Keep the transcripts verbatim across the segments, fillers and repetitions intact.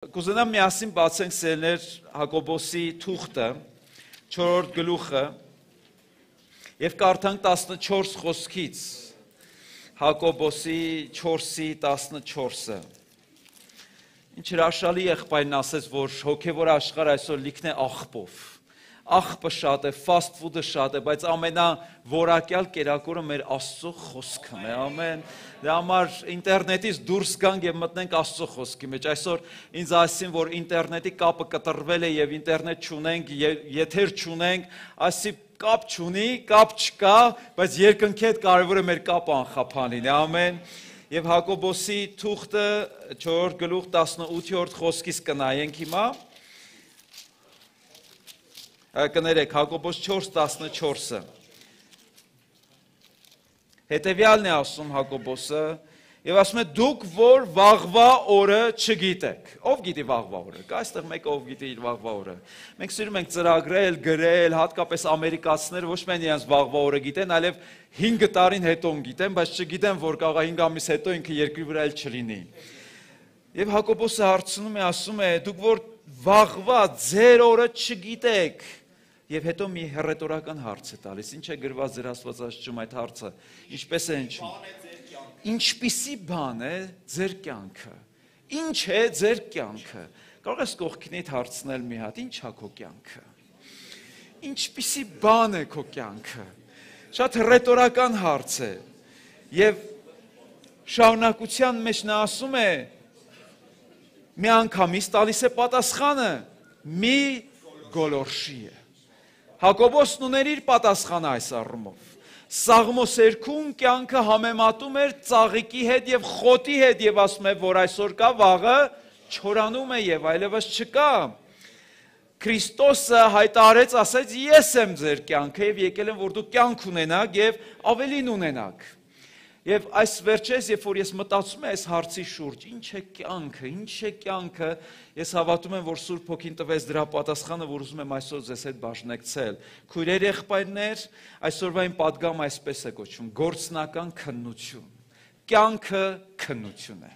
Կուզենամ միասին բացենք սերներ Հակոբոսի թուղթը, չորրորդ գլուխը, և կարդանք տասնչորս խոսքից, Հակոբոսի չորսի տասնչորսը։ Ինչ հրաշալի եղբայրն ասեց, որ հոգևոր աշխարհը այսօր լիքն է աղբով։ Աղբը շատ է, fast food-ը շատ է, բայց ամենավորակյալ կերակուրը մեր Աստծո խոսքն է, ամեն։ Դրա համար ինտերնետից դուրս գանք եւ մտնենք Աստծո խոսքի մեջ։ Այսօր ինձ ասին, որ ինտերնետի կապը կտրվել է եւ ինտերնետ չունենք, եթեր չունենք, ասի կապ չունի, կապ չկա, բայց երկնքի հետ կարևորը մեր կապը անխափանին է, ամեն։ Եվ Հակոբոսի թուղթը չորրորդ գլուխ տասնութերորդ խոսքից կնայենք հիմա։ Կներեք, Հակոբոս չորս տասնչորսը։ Հետևյալն է ասում Հակոբոսը, եւ ասում է դուք որ վաղվա օրը չգիտեք։ Ով գիտի վաղվա օրը։ Կա այստեղ մեկը ով գիտի իր վաղվա օրը։ Մենք սիրում ենք ծրագրել, գրել, հատկապես ամերիկացիները ոչ միայն իրենց վաղվա օրը գիտեն, այլև հինգ տարին հետո գիտեն, բայց չգիտեն, որ կարող է հինգ ամիս հետո ինքը երկրի վրա էլ չլինի։ Եվ Հակոբոսը հարցնում է, ասում է, դուք որ վաղվա ձեր օրը չգիտեք։ Եվ հետո մի հռետորական հարց է տալիս, ինչ է գրված ձեր Աստվածաշնչում այդ հարցը, ինչպես է հնչում։ Ինչպիսի բան է ձեր կյանքը, ինչ է ձեր կյանքը, կարող ես կողքինիդ հարցնել մի հատ, ինչ է քո կյանքը, ինչպիսի բան է քո կյանքը, շատ հռետորական հարց է, և շարունակության մեջ նա ասում է, մի անգամից տալիս է պատասխանը, մի գոլորշի է։ Հակոբոսն ուներ իր պատասխանը այս առումով։ Սաղմոսերքում կյանքը համեմատում էր ծաղիկի հետ և խոտի հետ և ասում է, որ այսօր կա վաղը չորանում է և այլևս չկա։ Քրիստոսը հայտարարեց, ասեց, ես եմ ձեր կյանքը և եկել եմ, որ դուք կյանք ունենաք և ավելին ունենաք։ Եվ այս վերջերս, երբ որ ես մտածում եմ այս հարցի շուրջ, ինչ է կյանքը, ինչ է կյանքը, ես հավատում եմ, որ Սուրբ Հոգին տվեց դրա պատասխանը, որ ուզում եմ այսօր ձեզ հետ բաժնեկցել։ Քույրեր, եղբայրներ, այսօրվա իմ պատգամը այսպես է կոչվում՝ գործնական քննություն։ Կյանքը քննություն է։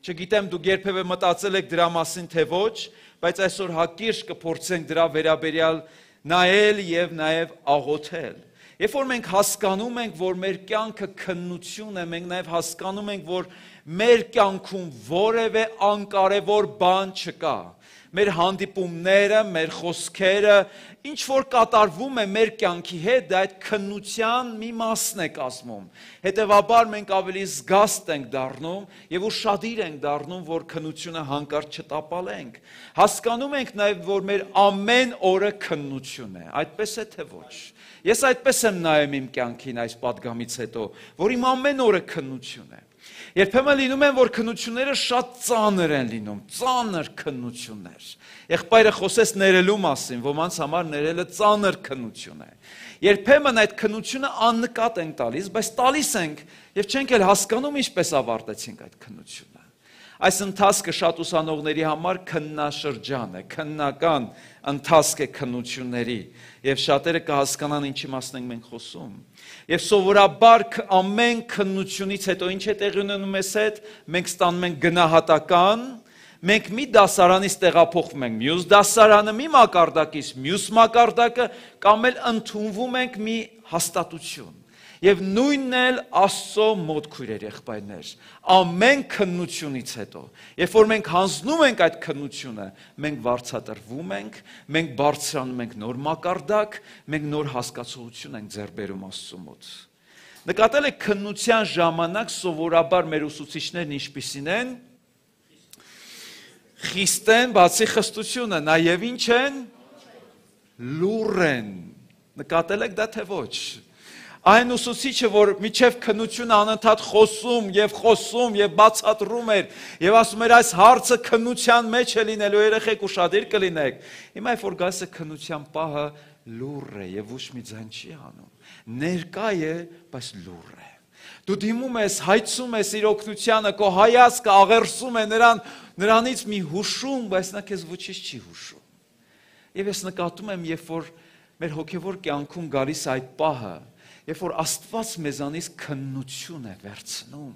Չգիտեմ դուք երբևէ մտածել եք դրա մասին թե ոչ, բայց այսօր հակիրճ կփորձենք դրա վերաբերյալ նայել եւ նաեւ աղոթել։ Երբ որ մենք հասկանում ենք, որ մեր կյանքը քննություն է, մենք նաև հասկանում ենք, որ մեր կյանքում որևէ անկարևոր բան չկա։ Մեր հանդիպումները, մեր խոսքերը, ինչ որ կատարվում է մեր կյանքի հետ, դա այդ քննության մի մասն է կազմում։ Հետևաբար մենք ավելի զգաստ ենք դառնում եւ ուշադիր ենք դառնում, որ քննությունը հանկարծ չտապալենք։ Հասկանում ենք նաեւ, որ մեր ամեն օրը քննություն է, այդպես է թե ոչ։ Ես այդպես եմ նայում իմ կյանքին այս պատգամից հետո, որ իմ ամեն օրը քննություն է։ Երբեմն լինում են, որ քննությունները շատ ծանր են լինում, ծանր քննություններ։ Եղբայրը խոսեց ներելու մասին, ոմանց համար ներելը ծանր քննություն է։ Երբեմն այդ քննությունը աննկատ ենք տալիս, բայց տալիս ենք եւ չենք էլ հասկանում ինչպես ավարտեցինք այդ քննությունը։ Այս ընթացքը շատ ուսանողների համար քննաշրջան է, քննական ընթացք է քննությունների եւ շատերը կհասկանան ինչի մասն ենք մենք խոսում։ Եվ սովորաբար ամեն քննությունից հետո ինչ է տեղի ունենում մեզ հետ, մենք ստանում ենք գնահատական, մենք մի դասարանից տեղափոխվում ենք մյուս դասարանը, մի մակարդակից մյուս մակարդակը, կամ էլ ընդունվում ենք մի հաստատություն։ Եվ նույնն էլ Աստծո մոտ քույրեր եղբայրներ, ամեն քննությունից հետո, երբ որ մենք հանձնում ենք այդ քննությունը, մենք վարձատրվում ենք, մենք բարձրանում ենք նոր մակարդակ, մենք նոր հասկացություն ենք ձեռք բերում Աստծո մոտ։ Նկատել եք քննության ժամանակ սովորաբար մեր ուսուցիչներն ինչպիսին են, խիստ են, բացի խստությունը, նաև ինչ են, լուռ են։ Նկատել եք դա թե ոչ։ Այն ուսուցիչը, որ միջև քննությունը անընդհատ խոսում եւ խոսում եւ բացատրում էր եւ ասում էր այս հարցը քննության մեջ է լինելու, երեխեք ուշադիր կլինեք։ Հիմա երբ որ գալիս է քննության պահը, լուռ է եւ ոչ մի ձայն չի անում։ Ներկա է, բայց լուռ է։ Դու դիմում ես, հայցում ես իր օգնությանը, քո հայացքը աղերսում է նրան, նրանից մի հուշում, բայց նա քեզ ոչինչ չի հուշում։ Եվ ես նկատում եմ, երբ որ մեր հոգեվոր կյանքում գալիս այդ պահը, երբ որ Աստված մեզանից քննություն է վերցնում,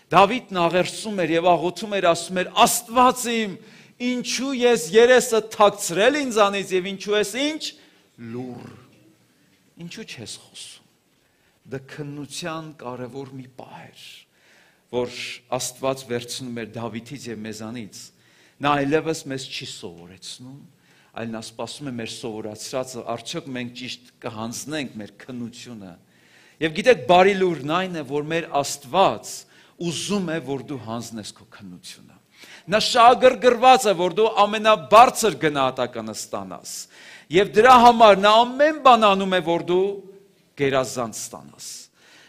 Դավիթն աղերսում էր եւ աղոթում էր, ասում էր. Աստված իմ, ինչու ես երեսը թաքցրել ինձանից եւ ինչու ես ինչ լուր։ Ինչու չես խոսում։ Դա քննության կարևոր մի պահ էր, որ Աստված վերցնում էր Դավիթից եւ մեզանից։ Նա այլևս մեզ չի սովորեցնում, այլ նա սպասում է մեր սովորացրածը, արդյոք մենք ճիշտ կհանձնենք մեր քննությունը։ Եվ գիտեք, բարի լուրն այն է, որ մեր Աստված ուզում է, որ դու հանձնես քո քննությունը։ Նա շահագրգռված է, որ դու ամենաբարձր գնահատականը ստանաս։ Եվ դրա համար նա ամեն բան անում է, որ դու գերազանց ստանաս։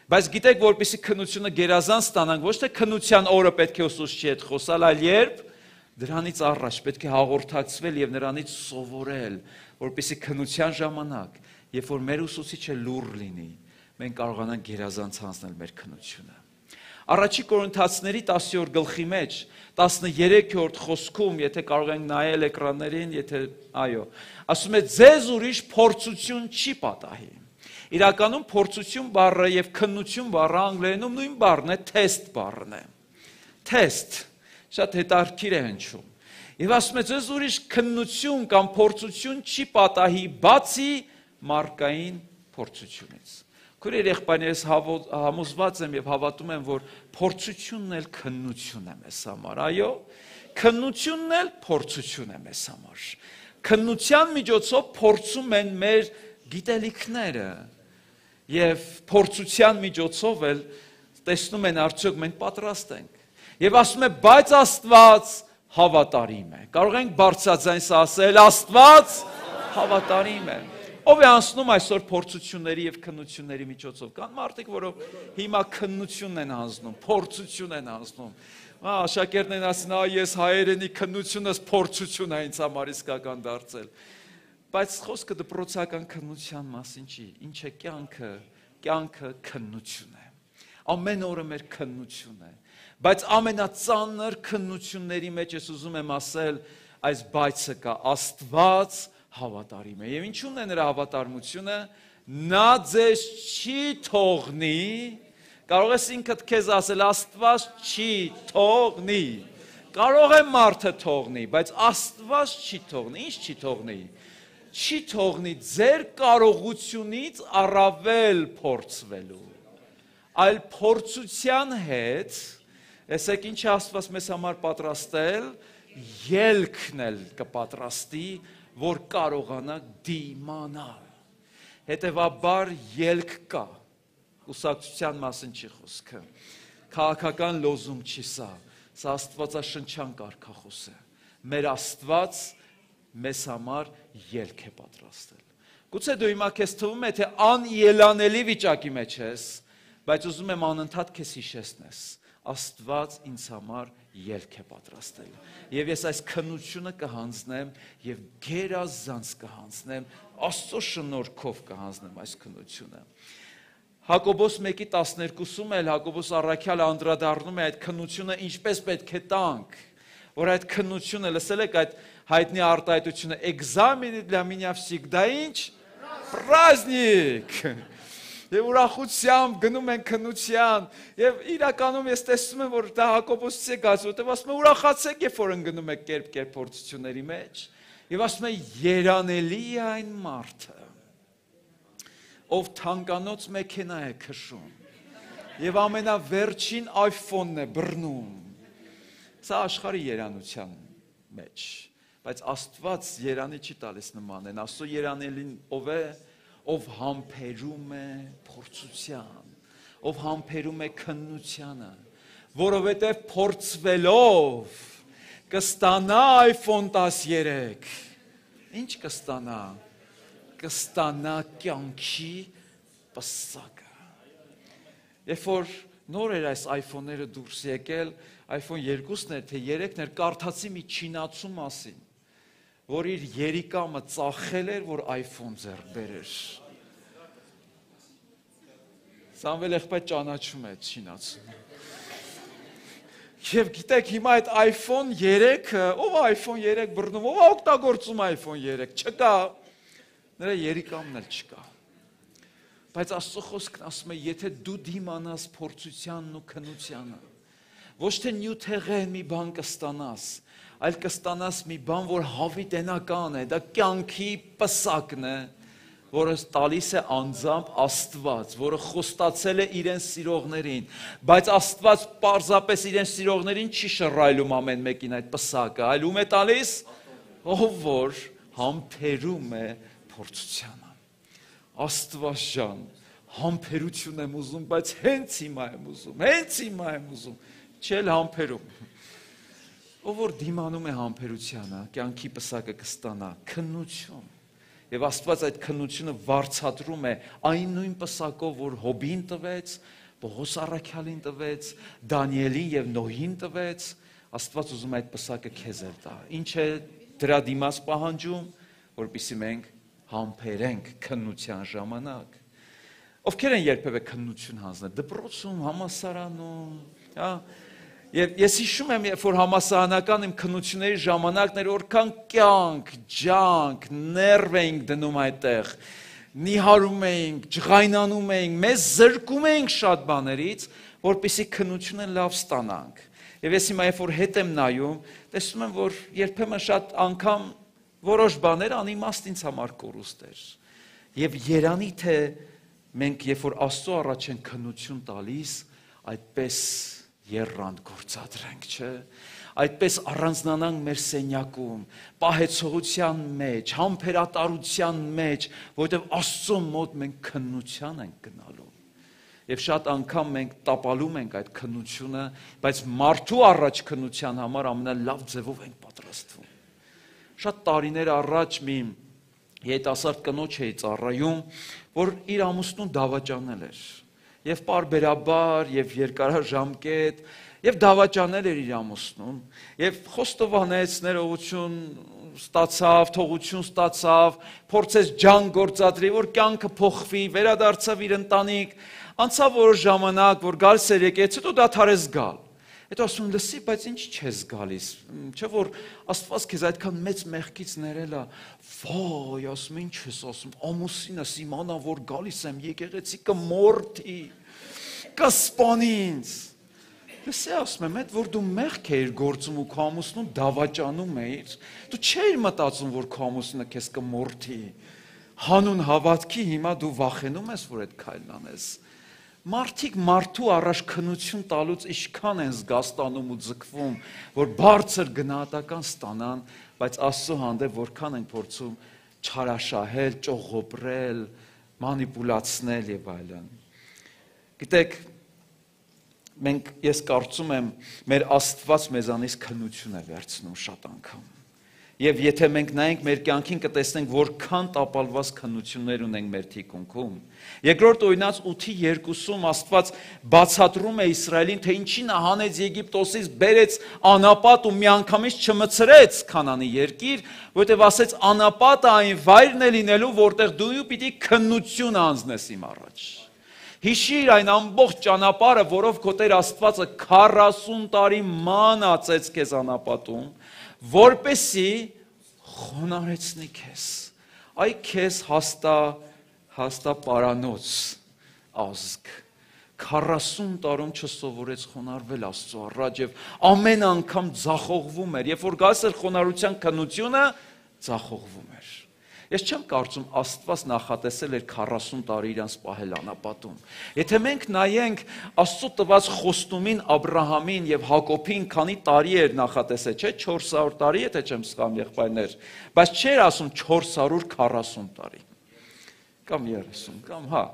Բայց գիտեք, որպեսզի քննությունը գերազանց ստանանք, ոչ թե քննության օրը պետք է ուսուցչի հետ խոսալ, այլ երբ դրանից առաջ պետք է հաղորդակցվել եւ նրանից սովորել, որպեսզի քննության ժամանակ, երբ որ մեր ուսուցիչը լուր լինի, մենք կարողանանք գերազանց հանձնել մեր քննությունը։ Առաջի Կորինթացիների տասնյորդ գլխի մեջ տասներեքրորդ խոսքում, եթե կարող ենք նայել էկրաններին, եթե այո, ասում է ձեզ ուրիշ փորձություն չի պատահի։ Իրականում փորձություն բառը եւ քննություն բառը անգլերենում նույն բառն է, test բառն է։ Test, շատ հետաքրքիր է հնչում։ Եվ ասում է ձեզ ուրիշ քննություն կամ փորձություն չի պատահի, բացի մարդկային փորձությունից։ Քույր երեխաներս համոզված եմ եւ հավատում եմ, որ փորձությունն էլ քննություն է մեզ համար, այո, քննությունն էլ փորձություն է մեզ համար։ Քննության միջոցով փորձում են մեր գիտելիքները եւ փորձության միջոցով էլ տեսնում են արդյոք մենք պատրաստ ենք։ Եվ ասում է, բայց Աստված հավատարիմ է։ Կարող ենք բարձրաձայն ասել, Աստված հավատարիմ է։ Ով է անցնում այսօր փորձությունների եւ քննությունների միջոցով։ Կան մարդիկ, որով հիմա քննությունն են անցնում, փորձություն են անցնում։ Ահա աշակերտներն ասին, «Ա ես հայերենի քննությունս փորձություն է ինձ համար իսկական դարձել»։ Բայց խոսքը դպրոցական քննության մասին չի։ Ինչ է կյանքը։ Կյանքը քննություն է։ Ամեն օրը մեր քննություն է։ Բայց ամենածանր քննությունների մեջ ես ուզում եմ ասել, այս բայցը կա, Աստված հավատարիմ է։ Եվ ինչու՞ն է նրա հավատարմությունը։ Նա ձեզ չի թողնի, կարող ես ինքդ քեզ ասել, Աստված չի թողնի։ Կարող է մարդը թողնի, բայց Աստված չի թողնի։ Ինչ չի թողնի։ Չի թողնի ձեր կարողությունից առավել փորձվելու, այլ փորձության հետ, եսեք ինչ Աստված մեզ համար պատրաստել, ելքն էլ կպատրաստի, որ կարողանա դիմանալ։ Հետևաբար ելք կա, ուսակցության մասին չի խոսքը, քաղաքական լոզում չի սա, սա աստվածաշնչյան կարգախոս է, մեր Աստված մեզ համար ելք է պատրաստել։ Գուցե դու հիմա քեզ թվում է, թե անելանելի վիճակի մեջ ես, բայց ուզում եմ անընդհատ քեզ հիշեցնես, Աստված ինձ համար ելք է պատրաստել։ Եվ ես այս քննությունը կհանձնեմ եւ գերազանց կհանձնեմ, Աստծո շնորհքով կհանձնեմ այս քննությունը։ Հակոբոս մեկի տասներկուսում էլ Հակոբոս առաքյալը անդրադառնում է այդ քննությունը ինչպես պետք է տանք, որ այդ քննությունը, լսել եք այդ հայտնի արտահայտությունը, экзамены для меня всегда ինչ праздник։ Եվ ուրախությամբ գնում են քննության, եւ իրականում ես տեսնում եմ, որ դա Հակոբոսից է գալիս, որտեղ ասում է ուրախացեք, երբ որ ընկնում եք կերպ-կերպ փորձությունների մեջ, եւ ասում է երանելի է այն մարդը, ով թանկանոց մեքենա է քշում, եւ ամենավերջին iPhone-ն է բռնում։ Սա աշխարհի երանության մեջ, բայց Աստված երանի չի տալիս նման են, Աստծո երանելին ով է, ով համբերում է փորձության, ով համբերում է քննությանը, որովհետև փորձվելով կստանա iPhone տասներեք, ինչ կստանա, կստանա կյանքի պսակը։ Երբ որ նոր էր այս iPhone-ները դուրս եկել, iPhone երկուսն էր, թե երեքն էր, կարդացի մի չինացու մասին, որ իր երիկամը ծախել էր, որ iPhone ձեռք բերեր։ Սամվել եղբայր ճանաչում է չինացուն։ Եվ գիտեք, հիմա այդ iPhone երեքը, ով է iPhone երեք բռնում, ով է օգտագործում iPhone երեք, չկա, նրա երիկամն էլ չկա։ Բայց Աստծո խոսքն ասում է, եթե դու դիմանաս փորձությանն ու քննությանը, ոչ թե նյութեղեն մի բան կստանաս, այլ կստանաս մի բան, որ հավիտենական է, դա կյանքի պսակն է, որը տալիս է անձամբ Աստված, որը խոստացել է իրեն սիրողներին, բայց Աստված պարզապես իրեն սիրողներին չի շռայլում ամեն մեկին այդ պսակը, այլ ում է տալիս, ով որ համբերում է փորձությանը։ Աստված ջան, համբերություն եմ ուզում, բայց հենց հիմա եմ ուզում, հենց հիմա եմ ուզում, չել համբերում։ Ով որ դիմանում է համբերությանը, կյանքի պսակը կստանա, քննություն։ Եվ Աստված այդ քննությունը վարձատրում է այն նույն պսակով, որ Հոբին տվեց, Պողոս առաքյալին տվեց, Դանիելին եւ Նոհին տվեց, Աստված ուզում է այդ պսակը քեզ էլ տա։ Ինչ է դրա դիմաց պահանջում, որպեսզի մենք համբերենք քննության ժամանակ։ Ովքեր են երբևէ քննություն հանձնել դպրոցում, համալսարանում, հա։ Եվ ես հիշում եմ, երբ որ համալսարանական իմ քննությունների ժամանակներ որքան կյանք, ջանք, ներվ էինք դնում այդտեղ, նիհարում էինք, ջղայնանում էինք, մեզ զրկում էինք շատ բաներից, որպեսզի քննությունը լավ ստանանք։ Եվ ես հիմա երբ որ հետ եմ նայում, տեսնում եմ, որ երբեմն շատ անգամ որոշ բաներ անիմաստ ինձ համար կորուստ էր։ Եվ երանի թե մենք երբ որ Աստծո առաջ են քննություն տալիս, այդպես երրանդ գործադրենք, չէ, այդպես առանձնանանք մեր սենյակում, պահեցողության մեջ, համբերատարության մեջ, որովհետև Աստծո մոտ մենք քննության ենք գնալու։ Եվ շատ անգամ մենք տապալում ենք այդ քննությունը, բայց մարդու առաջ քննության համար ամենալավ ձևով ենք պատրաստվում։ Շատ տարիներ առաջ մի երիտասարդ կնոջ էի ծառայում, որ իր ամուսնուն դավաճանել էր։ Եվ պարբերաբար, եւ երկարաժամկետ, եւ դավաճանել էր իր ամուսնուն, եւ խոստովանեց, ներողություն ստացավ, թողություն ստացավ, փորձեց ջան գործադրի, որ կյանքը փոխվի, վերադարձավ իր ընտանիք, անցավ որոշ ժամանակ, որ գալիս էր եկեց, հետո դադարեց գալ։ Հետո ասում եմ, լսի, բայց ինչ չես գալիս, չէ՞ որ Աստված քեզ այդքան մեծ մեղքից ներել է։ Վայ, ասում եմ, ինչ ես ասում, ամուսինս իմանա, որ գալիս եմ, եկեղեցի կմորթի, կսպանի ինձ։ Լսի, ասում եմ, այդ որ դու մեղք էիր գործում ու քո ամուսնուն դավաճանում էիր, դու չէիր մտածում, որ քո ամուսինը քեզ կմորթի։ Հանուն հավատքի հիմա դու վախենում ես, որ այդ քայլն անես։ Մարդիկ մարդու առաջ քննություն տալուց ինչքան են զգաստանում ու ձգվում, որ բարձր գնահատական ստանան, բայց Աստծո հանդեպ որքան են փորձում չարաշահել, ճողոպրել, մանիպուլացնել եւ այլն։ Գիտեք, մենք ես կարծում եմ, մեր Աստված մեզանից քննություն է վերցնում շատ անգամ։ Եվ եթե մենք նայենք մեր կյանքին կտեսնենք որքան տապալված քննություններ ունենք մեր թիկունքում։ Երկրորդ օրինաց ութի երկուսում Աստված բացատրում է Իսրայելին, թե ինչի նա հանեց Եգիպտոսից, բերեց անապատ ու միանգամից չմցրեց Քանանի երկիր, որովհետև ասեց անապատը այն վայրն է լինելու, որտեղ դու պիտի քննություն անձնես իմ առաջ։ Հիշիր այն ամբողջ ճանապարհը, որով քո Տեր Աստվածը քառասուն տարի ման ածեց քեզ անապատում, որպեսի խոնարեցնի քեզ, այ քեզ հաստա, հաստա պարանոց ազգ, քառասուն տարում չսովորեց խոնարվել Աստծո առաջ եւ ամեն անգամ ձախողվում էր, երբ որ գալիս էր խոնարհության քննությունը, ձախողվում էր։ Ես չեմ կարծում Աստված նախատեսել էր քառասուն տարի իրանց պահել անապատում։ Եթե մենք նայենք Աստծո տված խոստումին Աբրահամին եւ Հակոբին քանի տարի էր նախատեսել, չէ՞, չորս հարյուր տարի, եթե չեմ սխալվում, եղբայրներ, բայց չէր ասում չորս հարյուր քառասուն տարի։ Կամ երեսուն, կամ հա։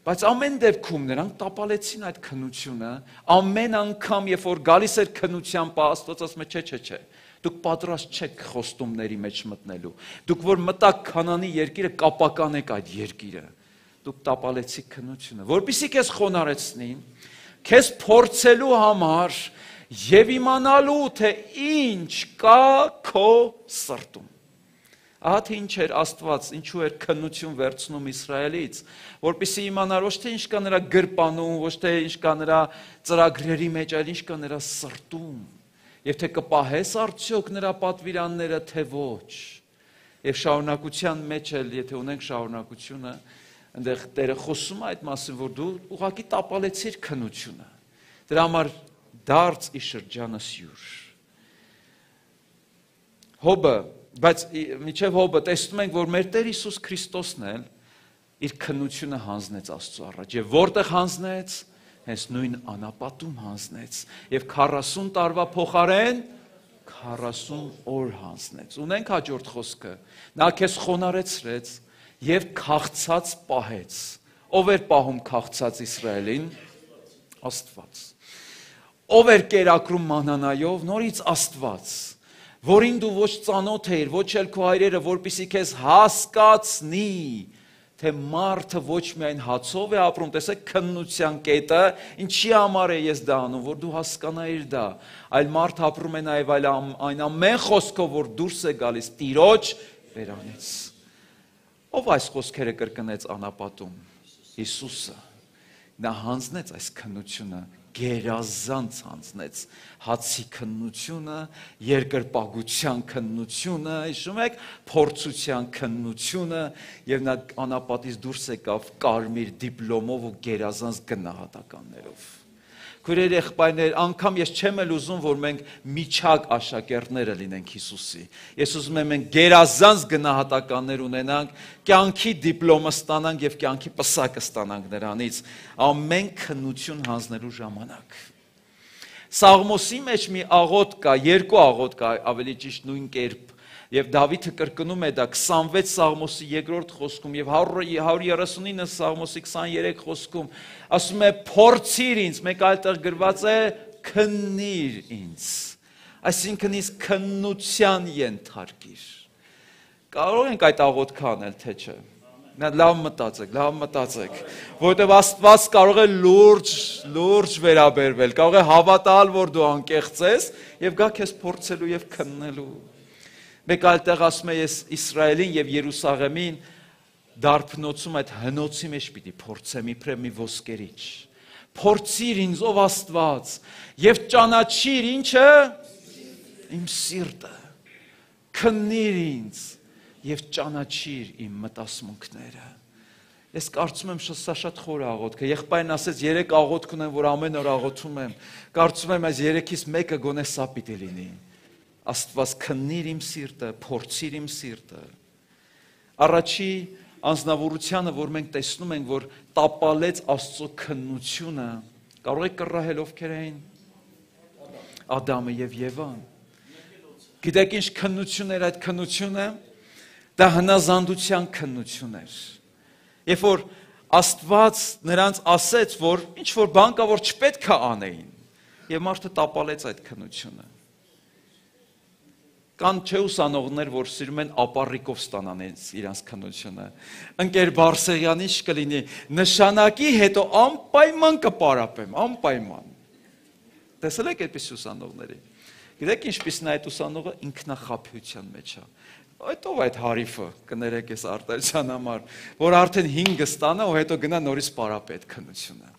Բայց ամեն դեպքում նրանք տապալեցին այդ քննությունը, ամեն անգամ, երբ որ գալիս էր քննության պահ, Աստված ասում է, չէ, չէ, չէ։ Դուք պատրաստ չեք խոստումների մեջ մտնելու։ Դուք որ մտաք Քանանի երկիրը, կապականեք այդ երկիրը։ Դուք տապալեցիք քննությունը, որպեսզի քեզ խոնարեցնի, քեզ փորձելու համար եւ իմանալու, թե ինչ կա քո սրտում։ Ահա թե ինչ էր Աստված, ինչու էր քննություն վերցնում Իսրայելից, որպեսզի իմանար ոչ թե ինչ կա նրա գրպանում, ոչ թե ինչ կա նրա ծրագրերի մեջ, այլ ինչ կա նրա սրտում։ Եվ թե կպահես արդյոք նրա պատվիրանները, թե ոչ։ Եվ շարունակության մեջ էլ, եթե ունենք շարունակությունը, այնտեղ Տերը խոսում է այդ մասին, որ դու ուղղակի տապալեցիր քննությունը։ Դրա համար դարձ ի շրջանս յուր։ Հոբը, բայց միջև հոբը տեսնում ենք, որ մեր Տեր Հիսուս Քրիստոսն էլ իր քննությունը հանձնեց Աստծո առաջ, եւ որտեղ հանձնեց, հենց նույն անապատում հանձնեց, եւ քառասուն տարվա փոխարեն քառասուն օր հանձնեց։ Ունենք հաջորդ խոսքը, նա քեզ խոնարեցրեց եւ քաղցած պահեց։ Ով էր պահում քաղցած Իսրայելին? Աստված։ Ով էր կերակրում մանանայով? Նորից Աստված, որին դու ոչ ծանոթ էիր, ոչ էլ քո հայրերը, որպեսզի քեզ հասկացնի, թե մարդը ոչ միայն հացով է ապրում, տեսեք քննության կետը, ինչի համար է ես դա անում, որ դու հասկանայիր դա, այլ մարդ ապրում է նաև այլ այն ամեն խոսքով, որ դուրս է գալիս Տիրոջ բերանից։ Ով այս խոսքերը կրկնեց անապատում? Հիսուսը։ Նա հանձնեց այս քննությունը, գերազանց հանձնեց հացի քննությունը, երկրպագության քննությունը, հիշում եք, փորձության քննությունը, եւ նա անապատից դուրս եկավ կարմիր դիպլոմով ու գերազանց գնահատականներով։ Քույրեր, եղբայրներ, անգամ ես չեմ էլ ուզում, որ մենք միջակ աշակերտները լինենք Հիսուսի։ Ես ուզում եմ մենք գերազանց գնահատականներ ունենանք, կյանքի դիպլոմը ստանանք եւ կյանքի պսակը ստանանք նրանից, ամեն քննություն հանձնելու ժամանակ։ Սաղմոսի մեջ մի աղոթք կա, երկու աղոթք կա, ավելի ճիշտ նույն կերպ, եւ Դավիթը կրկնում է դա քսանվեց Սաղմոսի երկրորդ խոսքում եւ հարյուր երեսունինը Սաղմոսի քսաներեք խոսքում, ասում է փորձիր ինձ, մեկ այլ տեղ գրված է քննիր ինձ, այսինքն ինձ քննության ենթարկիր։ Կարող ենք այդ աղոթքը անել, թե չէ։ Լավ մտածեք, լավ մտածեք, որովհետև Աստված կարող է լուրջ, լուրջ վերաբերվել, կարող է հավատալ, որ դու անկեղծ ես եւ գա քեզ փորձելու եւ քննելու։ Մեկ այլ տեղ ասում է ես Իսրայելին եւ Երուսաղեմին դարբնոցում այդ հնոցի մեջ պիտի փորձեմ իբրև մի ոսկերիչ։ Փորձիր ինձ ով Աստված եւ ճանաչիր ինչը իմ սիրտը։ Քննիր ինձ եւ ճանաչիր իմ մտածմունքները։ Ես կարծում եմ սա շատ խոր աղոթք է։ Եղբայրն ասեց երեք աղոթք ունեմ, որ ամեն օր աղոթում եմ։ Կարծում եմ այս երեքից մեկը գոնե սա պիտի լինի։ Աստված քննիր իմ սիրտը, փորձիր իմ սիրտը։ Առաջի անձնավորությունը, որ մենք տեսնում ենք, որ տապալեց Աստծո քննությունը, կարող է կռահել ովքեր էին? Ադամը եւ Եվան։ Գիտեք ինչ քննություն էր այդ քննությունը? Դա հնազանդության քննություն էր։ Երբ որ Աստված նրանց ասեց, որ ինչ որ բան կա, որ չպետք է անեին, եւ մարդը տապալեց այդ քննությունը։ Կան չէ ուսանողներ, որ սիրում են ապառիկով ստանան իրենց քննությունը։ Ընկեր Բարսեղյանի ինչ կլինի, նշանակի հետո անպայման կպարապեմ, անպայման։ Տեսել եք այդպես ուսանողների։ Գիտեք ինչպիսին է այդ ուսանողը ինքնախաբեության մեջ է։ Այդ ով այդ հարիֆը, կներեք ես արտահայտության համար, որ արդեն հինգը ստանա ու հետո գնա նորից պարապի այդ քննությունը։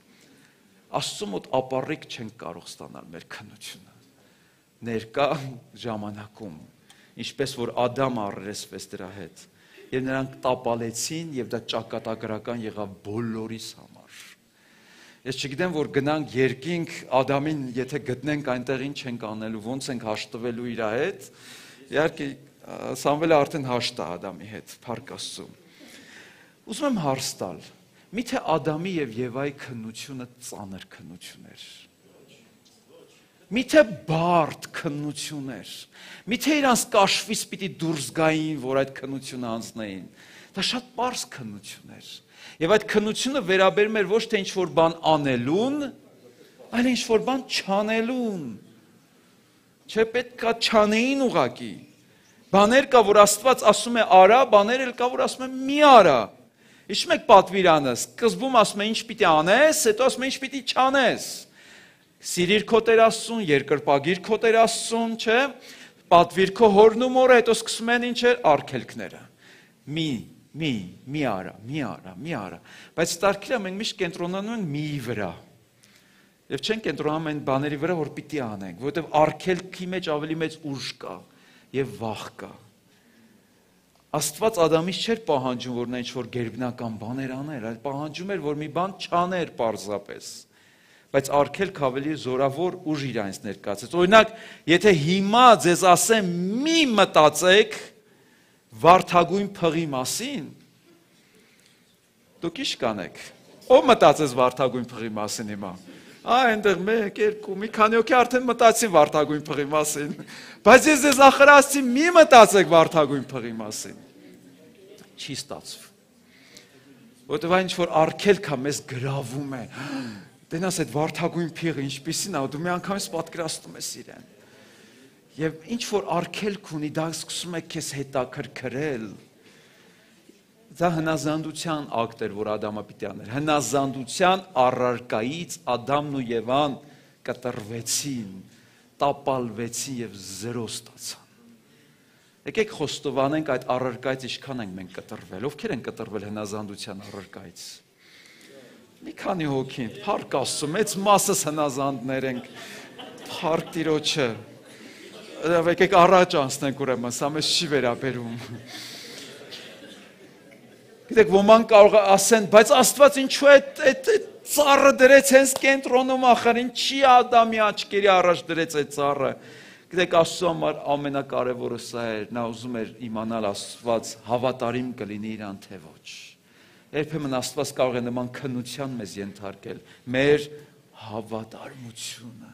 Աստծո մոտ ապառիկ չենք կարող ստանալ մեր քննությունը։ Ներկա ժամանակում, ինչպես որ Ադամը առերեսվեց դրա հետ, եւ նրանք տապալեցին եւ դա ճակատագրական եղավ բոլորիս համար։ Ես չգիտեմ, որ գնանք երկինք Ադամին, եթե գտնենք այնտեղ ինչ ենք անելու, ոնց ենք հաշտվելու իր հետ։ Իհարկե Սամվելը արդեն հաշտ է Ադամի հետ, փառք Աստծո։ Ուզում եմ հարց տալ, միթե Ադամի եւ Եվայի քննությունը ծանր քննություն էր։ Միթե բարդ քննություն էր։ Միթե իրանց կաշվից պիտի դուրս գային, որ այդ քննությունը անցնեին։ Դա շատ պարզ քննություն էր։ Եվ այդ քննությունը վերաբերում էր ոչ թե ինչ-որ բան անելուն, այլ ինչ-որ բան չանելուն։ Չէ, պետք է չանեին ուղակի։ Բաներ կա, որ Աստված ասում է արա, բաներ էլ կա, որ ասում է մի արա։ Հիշում եք պատվիրանը, սկզբում ասում է ինչ պիտի անես, հետո ասում է ինչ պիտի չանես։ Սիրիր քո Տեր Աստծուն, երկրպագիր քո Տեր Աստծուն, չէ՞։ Պատվիր քո հորն ու մորը, հետո սկսում են ինչ էր արգելքները։ Մի, մի, մի արա, մի արա, մի արա։ Բայց տարգիլը մենք միշտ կենտրոնանում ենք միի վրա։ Եվ չենք կենտրոնանում այն բաների վրա, որ պիտի անենք, որովհետև արգելքի մեջ ավելի մեծ ուժ կա եւ վախ կա։ Աստված Ադամից չէր պահանջում, որ նա ինչ-որ գերբնական բաներ աներ, այլ պահանջում էր, որ մի բան չաներ պարզապես։ բայց արգելք ավելի զորավոր ուժ իրանց ներկայացրեց։ Օրինակ, եթե հիմա ձեզ ասեմ մի մտածեք վարդագույն փղի մասին, դուք ի՞նչ կանեք։ Ո՞վ մտածեց վարդագույն փղի մասին հիմա։ Ա, այնտեղ մեկ, երկու, մի քանի հոգի արդեն մտածին վարդագույն փղի մասին, բայց ես ձեզ ախրացի մի մտածեք վարդագույն փղի մասին։ Չի ստացվում։ Որտեւ այն ինչ որ արգելք է մեզ գրավում է։ Դենաս այդ վարդագույն փիղը ինչպիսին է, դու մի անգամից պատկերացնում ես իրեն։ Եվ ինչ որ արգելք ունի, դա սկսում է քեզ հետաքրքրել։ Դա հնազանդության ակտ էր, որ Ադամը պիտի աներ։ Հնազանդության առարկայից Ադամն ու Եվան կտրվեցին, տապալվեցին եւ զրո ստացան։ Եկեք խոստովանենք այդ առարկայից ինչքան ենք մենք կտրվել։ Ովքեր են կտրվել հնազանդության առարկայից։ Մի քանի հոգի, փառք Աստծո, մեծ մասս հնազանդներ ենք։ Փառք Տիրոջը։ Եկեք առաջ անցնենք ուրեմն, սա մեզ չի վերաբերում։ Գիտեք, ոմանք կարող ասեն, բայց Աստված ինչու է այդ ծառը դրեց հենց կենտրոնում ախր, ինչի Ադամի աչքերի առաջ դրեց այդ ծառը։ Գիտեք, Աստծո համար ամենակարևորը սա էր, նա ուզում էր իմանալ Աստված հավատարիմ կլինի իրան թե ոչ։ Երբեմն Աստված կարող է նման քննության մեզ ենթարկել, մեր հավատարմությունը,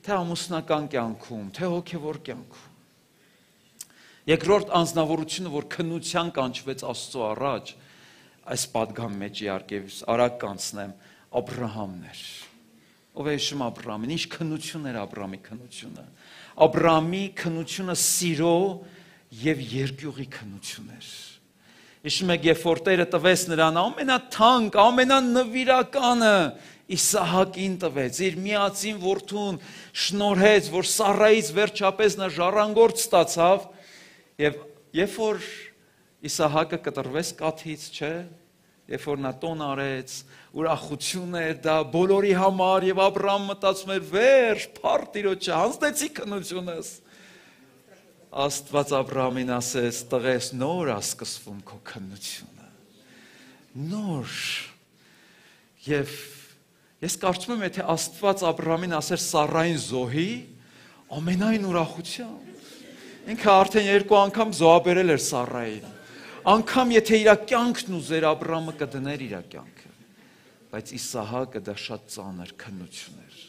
թե ամուսնական կյանքում, թե հոգևոր կյանքում։ Երկրորդ անձնավորությունը, որ քննության կանչվեց Աստծո առաջ, այս պատգամ մեջ իհարկե արագ կանցնեմ, Աբրահամն էր։ Ով է հիշում Աբրահամին, ինչ քննություն էր Աբրահամի քննությունը։ Աբրահամի քննությունը սիրո եւ երկյուղի քննություն էր։ Հիշում եք, երբ որ Տերը տվեց նրան ամենաթանկ, ամենանվիրականը Իսահակին տվեց, իր միածին որդուն շնորհեց, որ Սառայից վերջապես նա ժառանգորդ ստացավ, եւ երբ որ Իսահակը կտրվեց կաթից, չէ, երբ որ նա տոն արեց, ուրախություն էր դա բոլորի համար եւ Աբրահամ մտածում էր, վերջ, փառք Տիրոջը, հանձնեցի քննությունս։ Աստված Աբրահամին ասեց, տղես, նոր է սկսվում քո քննությունը։ Նոր։ Եվ ես կարծում եմ, եթե Աստված Աբրահամին ասեր Սառային զոհի, ամենայն ուրախությամբ։ Ինքը արդեն երկու անգամ զոհաբերել էր Սառային։ Անգամ եթե իր կյանքն ուզեր Աբրահամը կդներ իր կյանքը, բայց Իսահակը դա շատ ծանր քննություն էր։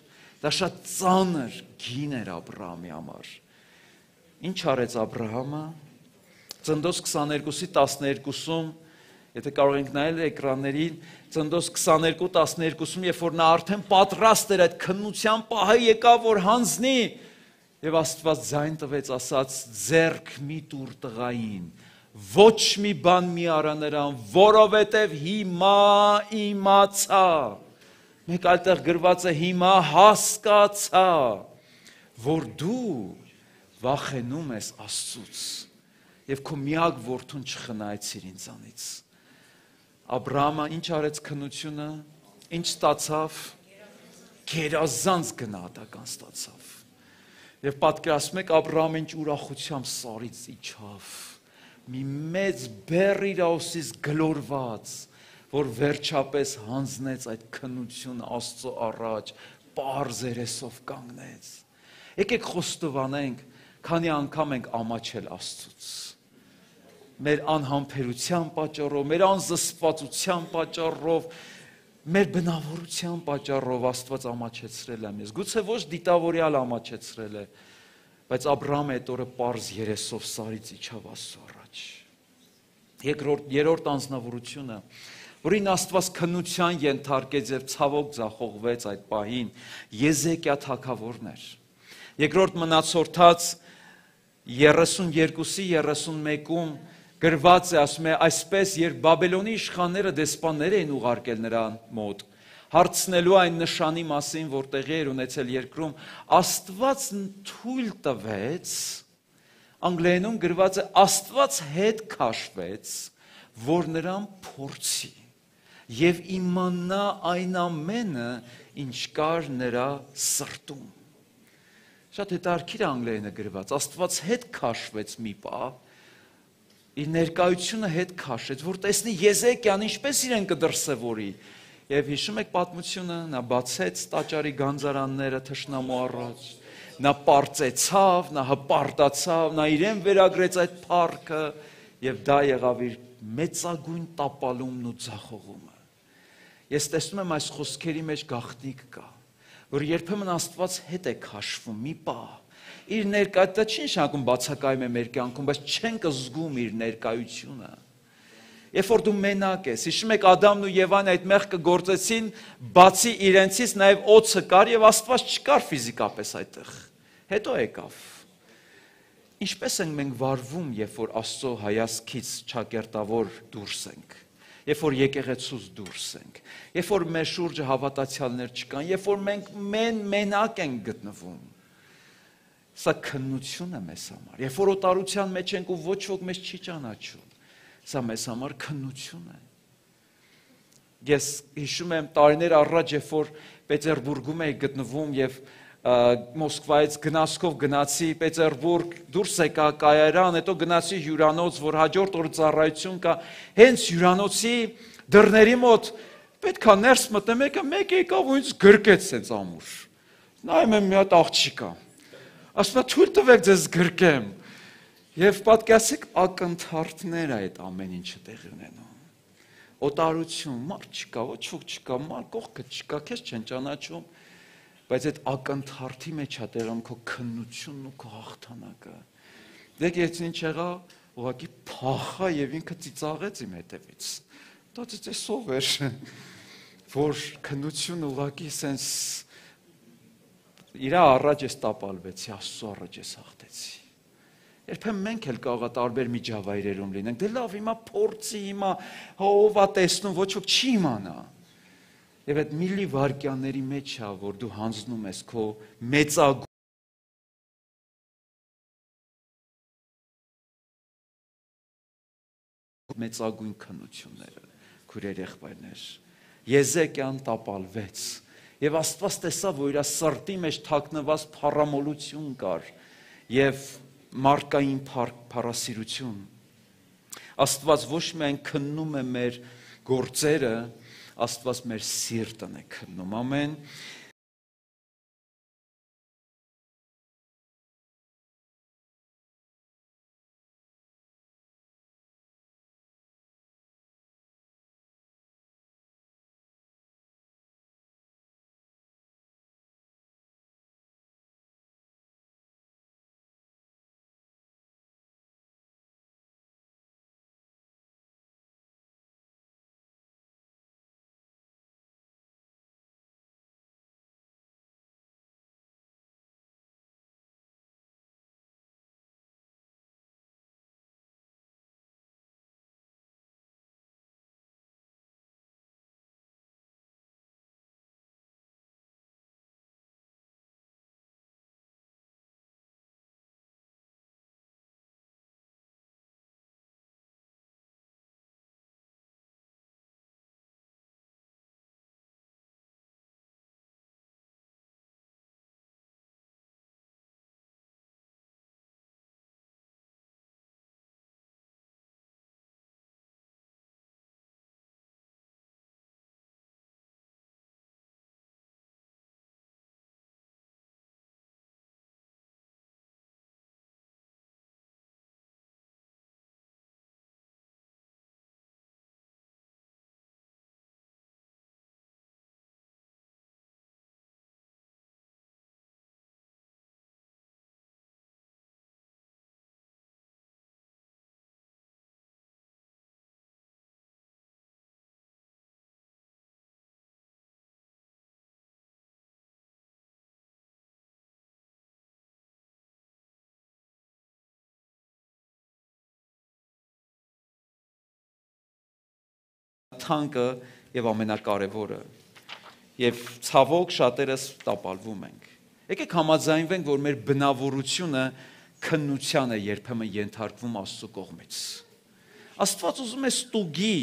Դա շատ ծանր գին էր Աբրահամի համար։ Ինչ արեց Աբրահամը։ Ծննդոց քսաներկուսի տասներկուսում, եթե կարող ենք նայել էկրաններին, Ծննդոց քսաներկու տասներկուսում, երբ որ նա արդեն պատրաստ էր այդ քննության պահը եկավ, որ հանձնի, եւ Աստված ձայն տվեց, ասաց, ձեռք մի տուր տղային, ոչ մի բան մի արա նրան, որովհետև հիմա իմացա։ Մեկ այլտեղ գրված է հիմա հասկացա, որ դու վախենում ես Աստծուց եւ քո միակ որդուն չխնայեցիր ինձանից։ Աբրահամը ինչ արեց քննությունը, ինչ ստացավ, գերազանց գնահատական ստացավ։ Եվ պատկերացնում եք Աբրահամը ինչ ուրախությամբ Սառից իջավ, մի մեծ բեռ իր ուսից գլորված, որ վերջապես հանձնեց այդ քննությունը Աստծո առաջ, պարզ երեսով կանգնեց։ Եկեք խոստովանենք, քանի անգամ ենք ամաչել Աստծուց։ Մեր անհամբերության պատճառով, մեր անզսպվածության պատճառով, մեր բնավորության պատճառով Աստված ամաչեցրել է մեզ։ Գուցե ոչ դիտավորյալ ամաչեցրել է, բայց Աբրահամը այդ օրը պարզ երեսով Սառից իջավ Աստծո առաջ։ Երկրորդ, երրորդ անձնավորությունը, որին Աստված քննության ենթարկեց եւ ցավոք ձախողվեց այդ պահին, Եզեկիա թագավորն էր։ Երկրորդ մնացորդած երեսունյերկուսի երեսունմեկում գրված է, ասում է, այսպես, երբ Բաբելոնի իշխանները դեսպաններ էին ուղարկել նրան մոտ, հարցնելու այն նշանի մասին, որ տեղի էր ունեցել երկրում, Աստված թույլ տվեց, անգլերենում գրված է, Աստված հետ քաշվեց, որ նրան փորձի եւ իմանա այն ամենը, ինչ կար նրա սրտում։ Շատ հետաքրքիր է անգլերենը գրված, Աստված հետ քաշվեց մի պահ, իր ներկայությունը հետ քաշեց, որ տեսնի Եզեկիան ինչպես իրեն կդրսևորի, Եվ հիշում եք պատմությունը, նա բացեց տաճարի գանձարանները թշնամու առաջ, նա պարծեցավ, նա հպարտացավ, նա իրեն վերագրեց այդ փառքը եւ դա եղավ իր մեծագույն տապալումն ու ձախողումը։ Ես տեսնում եմ այս խոսքերի մեջ գաղտնիք կա, որ երբեմն Աստված հետ է քաշվում մի պահ։ Իր ներկայությունը չի նշանակում բացակայում է մեր կյանքում, բայց չենք զգում իր ներկայությունը։ Երբ որ դու մենակ ես, հիշում եք Ադամն ու Եվան այդ մեղքը գործեցին, բացի իրենցից նաև օձը կար եւ Աստված չկար ֆիզիկապես այդտեղ։ Հետո եկավ։ Ինչպես ենք մենք վարվում, երբ որ Աստծո հայացքից ճակերտավոր դուրս ենք, երբ որ եկեղեցուց դուրս ենք, երբ որ մեր շուրջը հավատացյալներ չկան, երբ որ մենք մեն մենակ ենք գտնվում։ Սա քննություն է մեզ համար։ Երբ որ օտարության մեջ ենք ու ոչ ոք մեզ չի ճանաչում, սա մեզ համար քննություն է։ Ես հիշում եմ տարիներ առաջ, երբ որ Պետերբուրգում էի գտնվում եւ Մոսկվայից գնացքով գնացի Պետերբուրգ, դուրս եկա կայարան, հետո գնացի հյուրանոց, որ հաջորդ օր ծառայություն կա, հենց հյուրանոցի դռների մոտ պետք է ներս մտնեմ, եկա մեկ եկավ ու ինձ գրկեց sense ամուր։ Նայում եմ մի հատ աղջիկա։ Ասում է թույլ տվեք ձեզ գրկեմ։ Եվ պատկասեք ակնթարթներ այդ ամեն ինչը տեղի ունենում։ Օտարություն, մարդ չկա, ոչ ոք չկա, մարդ կողքը չկա, քեզ չեն ճանաչում, բայց այդ ակնթարթի մեջ է տեղում քո քննությունն ու քո հաղթանակը։ Դեք ես ինչ եղա, ուղղակի փախա եւ ինքը ծիծաղեց իմ հետևից։ Դա ծիծեսով էր, որ քննությունը ուղղակի sense իր առաջ ես տապալվեցի, Աստծո առաջ ես հաղթեցի։ Երբեմն մենք էլ կարող է տարբեր միջավայրերում լինենք։ Դե լավ, հիմա փորձի, հիմա ով է տեսնում, ոչ ոք չի իմանա։ Եվ այդ միլի վայրկյանների մեջ է, որ դու հանձնում ես քո մեծագույն մեծագույն քննությունները, քուրեր եղբայրներ։ Եզեկիան տապալվեց, եւ Աստված տեսավ, որ իր սրտի մեջ թաքնված փառամոլություն կար, եւ մարդկային փառասիրություն։ Աստված ոչ միայն քննում է մեր գործերը, Աստված մեր սիրտն է քննում, ամեն։ Թանկը եւ ամենակարևորը եւ ցավոք շատերս տապալվում ենք։ Եկեք համաձայնվենք, որ մեր բնավորությունը քննության է երբեմն ենթարկվում Աստծո կողմից։ Աստված ուզում է ստուգի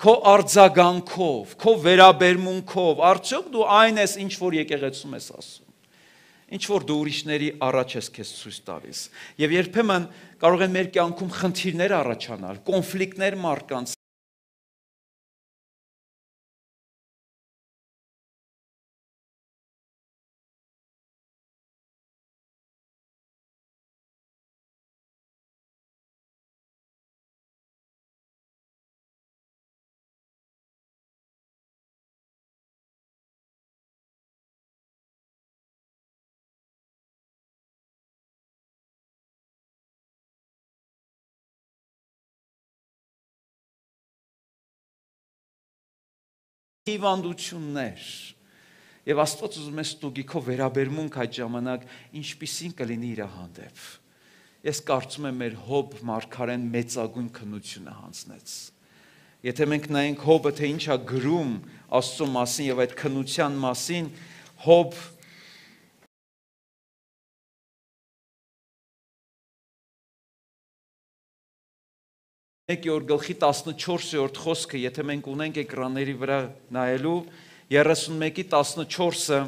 քո արձագանքով, քո վերաբերմունքով, արդյոք դու այն ես, ինչ որ եկեղեցում ես ասում։ Ինչ որ դու ուրիշների առաջ ես քեզ ցույց տալիս։ Եվ երբեմն կարող են մեր կյանքում խնդիրներ առաջանալ, կոնֆլիկտներ մարդկանց հիվանդություններ։ Եվ Աստված ուզում է ստուգի քո վերաբերմունք այդ ժամանակ ինչպիսին կլինի իր հանդեպ։ Ես կարծում եմ մեր Հոբ մարգարեն մեծագույն քննությունը հանձնեց։ Եթե մենք նայենք Հոբը, թե ինչ է գրում Աստծո մասին եւ այդ քննության մասին, Հոբ Եկի օր գլխի տասնչորսերորդ խոսքը, եթե մենք ունենք էկրանների վրա նայելու, երեսունմեկի տասնչորսը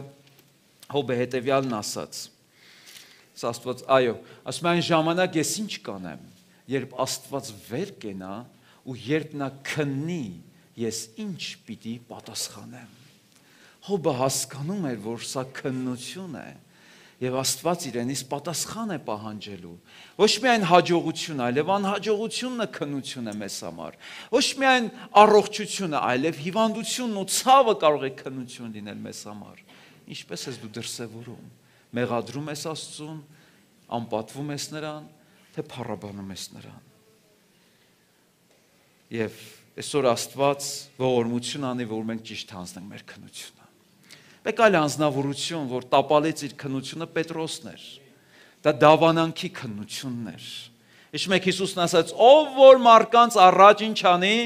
Հոբը հետևյալն ասաց. Աստված, այո, ասում է այն ժամանակ ես ինչ կանեմ, երբ Աստված վեր կենա ու երբ նա քննի, ես ինչ պիտի պատասխանեմ։ Հոբը հասկանում էր, որ սա քննություն է եւ Աստված իրենից պատասխան է պահանջելու։ Ոչ միայն հաջողություն, այլև անհաջողությունն է քննություն է մեզ համար։ Ոչ միայն առողջությունը, այլև հիվանդությունն ու ցավը կարող է քննություն լինել մեզ համար։ Ինչպես ես դու դրսևորում։ Մեղադրում ես Աստծուն, անպատվում ես նրան, թե փառաբանում ես նրան։ Եվ այսօր Աստված ողորմություն անի, որ մենք ճիշտ հանձնենք մեր քննությունը։ Մեկ այլ անձնավորություն, որ տապալեց իր քննությունը, Պետրոսն էր։ Դա դավանանքի քննությունն էր։ Իշ մեկ Հիսուսն ասաց, ով որ մարկանց առաջ ինչ անի,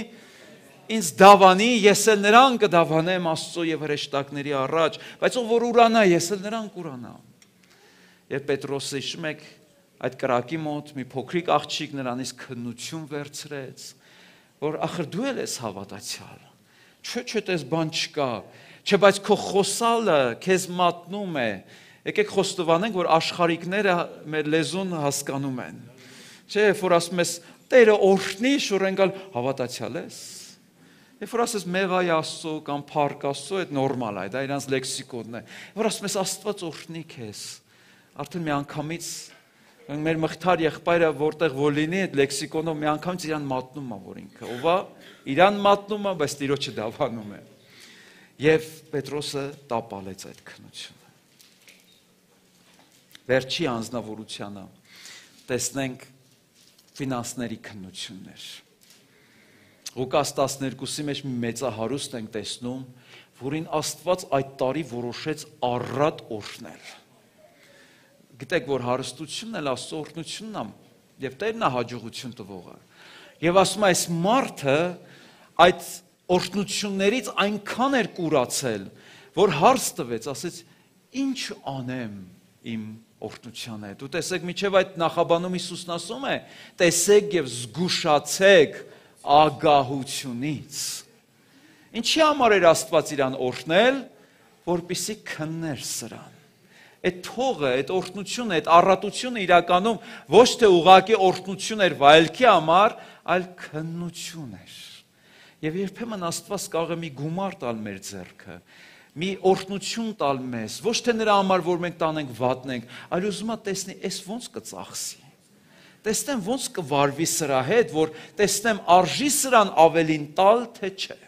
ինձ դավանի, ես էլ նրան կդավանեմ Աստծո եւ հրեշտակների առաջ, բայց ով որ ուրանա, ես էլ նրան կուրանամ։ Եվ Պետրոսը իշ մեկ այդ կրակի մոտ մի փոքրիկ աղջիկ նրանից քննություն վերցրեց, որ ախր դու ես հավատացյալ։ Չէ, չէ, դες բան չկա։ Չէ, բայց քո խոսալը քեզ մատնում է։ Եկեք խոստովանենք, որ աշխարհիկները մեր լեզուն հասկանում են։ Չէ, որ ասում ես, Տերը օրհնի, շուրենգալ հավատացյալ ես։ Երբ որ ասես մեղայ Աստծո կամ փառք Աստծո, այդ նորմալ է, դա իրանց լեքսիկոնն է։ Որ ասում ես Աստված օրհնի քեզ։ Արդեն մի անգամից մեր մղթար եղբայրը որտեղ որ լինի, այդ լեքսիկոնով մի անգամից իրան մատնում է, որ ինքը ով է, իրան մատնում է, բայց Տիրոջը դավանում է։ Եվ Պետրոսը տապալեց այդ քննությունը։ Վերջի անձնավորությանը տեսնենք ֆինանսների քննություններ։ Ղուկաս տասներկուսի մեջ մի մեծահարուստ ենք տեսնում, որին Աստված այդ տարի որոշեց առատ օրհնել։ Գիտեք, որ հարստությունն էլ Աստծո օրհնությունն է, եւ Տերն է հաջողություն տվողը։ Եվ ասում է, այս մարդը այդ օրհնություններից այնքան էր կուրացել, որ հարց տվեց, ասեց, ինչ անեմ իմ օրհնության հետ։ Ու տեսեք, միջև այդ նախաբանում Հիսուսն ասում է, տեսեք եւ զգուշացեք ագահությունից։ Ինչի համար էր Աստված իրան օրհնել, որպեսզի քններ սրան։ Այդ թողը, այդ օրհնությունը, այդ առատությունը իրականում ոչ թե ուղղակի օրհնություն էր վայելքի համար, այլ քննություն էր։ Եվ երբեմն Աստված կարող է մի գումար տալ մեր ձեռքը, մի օրհնություն տալ մեզ, ոչ թե նրա համար, որ մենք տանենք վատնենք, այլ ուզում է տեսնի, այս ոնց կծախսի։ Տեսնեմ ոնց կվարվի սրա հետ, որ տեսնեմ արժի սրան ավելին տալ, թե չէ։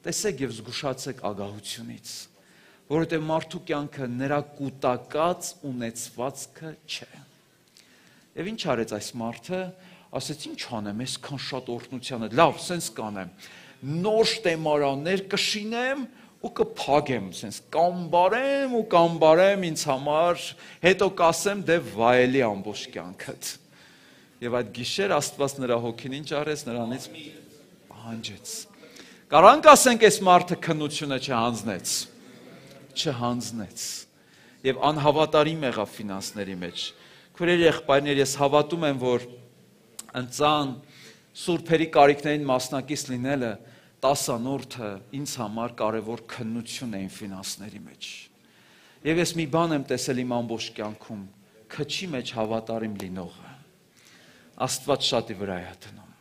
Տեսեք եւ զգուշացեք ագահությունից, որովհետև մարդու կյանքը նրա կուտակած ունեցվածքը չէ։ Եվ ինչ արեց այս մարդը, ասեց ինչ անեմ, այսքան շատ օրհնության հետ, լավ, սենց կանեմ, նոր շտեմարաններ կշինեմ ու կփագեմ, սենց կամբարեմ ու կամբարեմ ինձ համար, հետո կասեմ դե վայելի ամբողջ կյանքդ։ Եվ այդ գիշեր Աստված նրա հոգին ինչ արեց, նրանից պահանջեց։ Կարանք ասենք այս մարդը քննությունը չհանձնեց, չհանձնեց եւ անհավատարիմ եղավ ֆինանսների մեջ։ Քույրեր, եղբայրներ, ես հավատում եմ, որ ընծան սուրբերի կարիքներին մասնակից լինելը տասանորդը ինձ համար կարևոր քննություն էին ֆինանսների մեջ։ Եվ ես մի բան եմ տեսել իմ ամբողջ կյանքում, քչի մեջ հավատարիմ լինողը Աստված շատի վրա է դնում։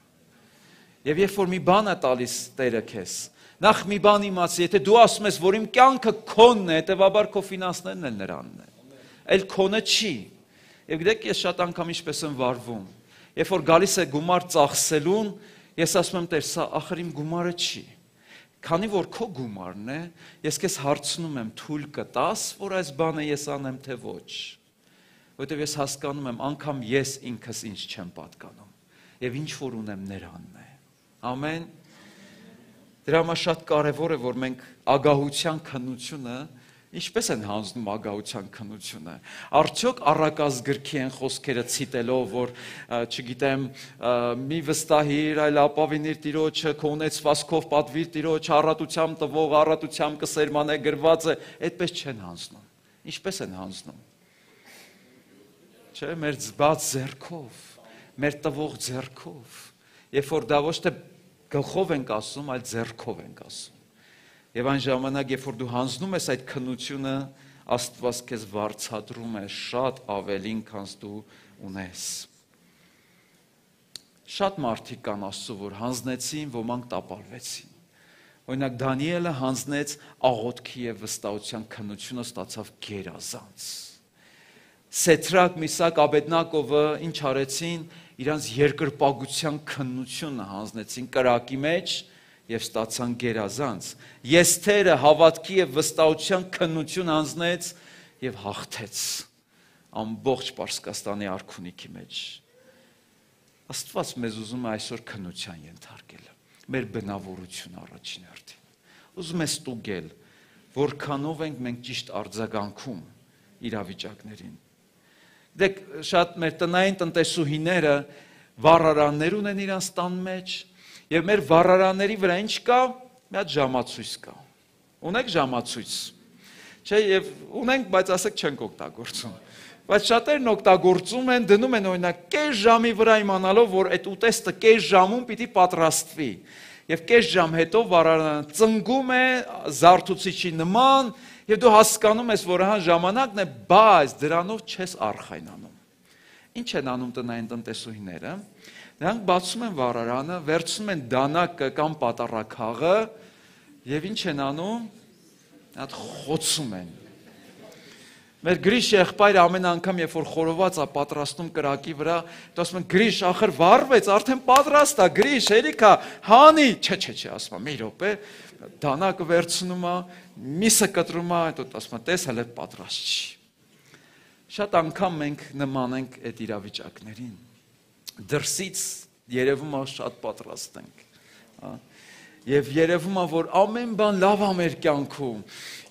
Եվ երբ որ մի բան է տալիս Տերը քեզ, նախ մի բան իմացի, եթե դու ասում ես, որ իմ կյանքը քոնն է, հետեւաբար քո ֆինանսներն էլ նրանն է։ Այլ քոնը չի։ Եվ գիտեք, ես շատ անգամ ինչպես եմ վարվում։ Երբ որ գալիս է գումար ծախսելուն, ես ասում եմ, Տեր, սա ախր իմ գումարը չի։ Քանի որ քո գումարն է, ես քեզ հարցնում եմ, թույլ կտաս, որ այս բանը ես անեմ, թե ոչ։ Որտեւ ես հասկանում եմ, անգամ ես ինքս ինձ չեմ պատկանում։ Եվ ինչ որ ունեմ նրանն է։ Ամեն։ Դրա համար շատ կարևոր է, որ մենք ագահության քննությունը ինչպես են հանձնում ագահության քննությունը։ Արդյոք առակազ գրքի են խոսքերը ցիտելով, որ չգիտեմ, մի վստահիր, այլ ապավինիր Տիրոջը, քո ունեցվածքով պատվիր Տիրոջը, առատությամբ տվող, առատությամբ կսերմանե գրված է, այդպես չեն հանձնում։ Ինչպես են հանձնում։ Չէ, մեր բաց ձեռքով, մեր տվող ձեռքով, երբ որ դա ոչ թե գլխով ենք ասում, այլ ձեռքով ենք ասում։ Եվ այն ժամանակ, երբ որ դու հանձնում ես այդ քննությունը, Աստված քեզ վարձատրում է շատ ավելին, քան դու ունես։ Շատ մարդիկ կան Աստծո, որ հանձնեցին, ոմանք տապալվեցին։ Օրինակ Դանիելը հանձնեց աղոթքի եւ վստահության քննությունը, ստացավ գերազանց։ Սեդրակ, Միսակ, Աբեդնագովը ինչ արեցին, իրանց երկրպագության քննությունը հանձնեցին կրակի մեջ եւ ստացան գերազանց։ Եսթերը հավատքի եւ վստահության քննություն հանձնեց եւ հաղթեց ամբողջ Պարսկաստանի արքունիքի մեջ։ Աստված մեզ ուզում է այսօր քննության ենթարկել, մեր բնավորությունը առաջին հերթին։ Ուզում է ստուգել, որքանով ենք մենք ճիշտ արձագանքում իրավիճակներին։ Դեք շատ մեր տնային տնտեսուհիները վառարաններ ունեն իրանց տան մեջ, եւ մեր վառարանների վրա ինչ կա, մի հատ ժամացույց կա։ Ունեք ժամացույց։ Չէ, եւ ունենք, բայց ասեք չենք օգտագործում։ Բայց շատերն օգտագործում են, դնում են օրինակ կես ժամի վրա իմանալով, որ այդ ուտեստը կես ժամում պիտի պատրաստվի։ Եվ կես ժամ հետո վառարանը ծնգում է զարթուցիչի նման, եւ դու հասկանում ես, որ հա ժամանակն է, բայց դրանով չես արխայնանում։ Ինչ են անում տնային տնտեսուհիները։ Նրանք բացում են վառարանը, վերցնում են դանակը կամ պատառաքաղը եւ ինչ են անում, այդ խոցում են։ Մեր Գրիշ եղբայրը ամեն անգամ, երբ որ խորոված է պատրաստում կրակի վրա, դա ասում են Գրիշ, ախր վառվեց, արդեն պատրաստ է, Գրիշ, հերիքա, հանի, չէ, չէ, չէ, ասում է, մի րոպե, դանակը վերցնում է, միսը կտրում է, այդ ասում է, տես հələ պատրաստ չի։ Շատ անգամ մենք նման ենք այդ իրավիճակներին։ Դրսից երևում է շատ պատրաստ ենք։ Եվ երևում է, որ ամեն բան լավ է մեր կյանքում։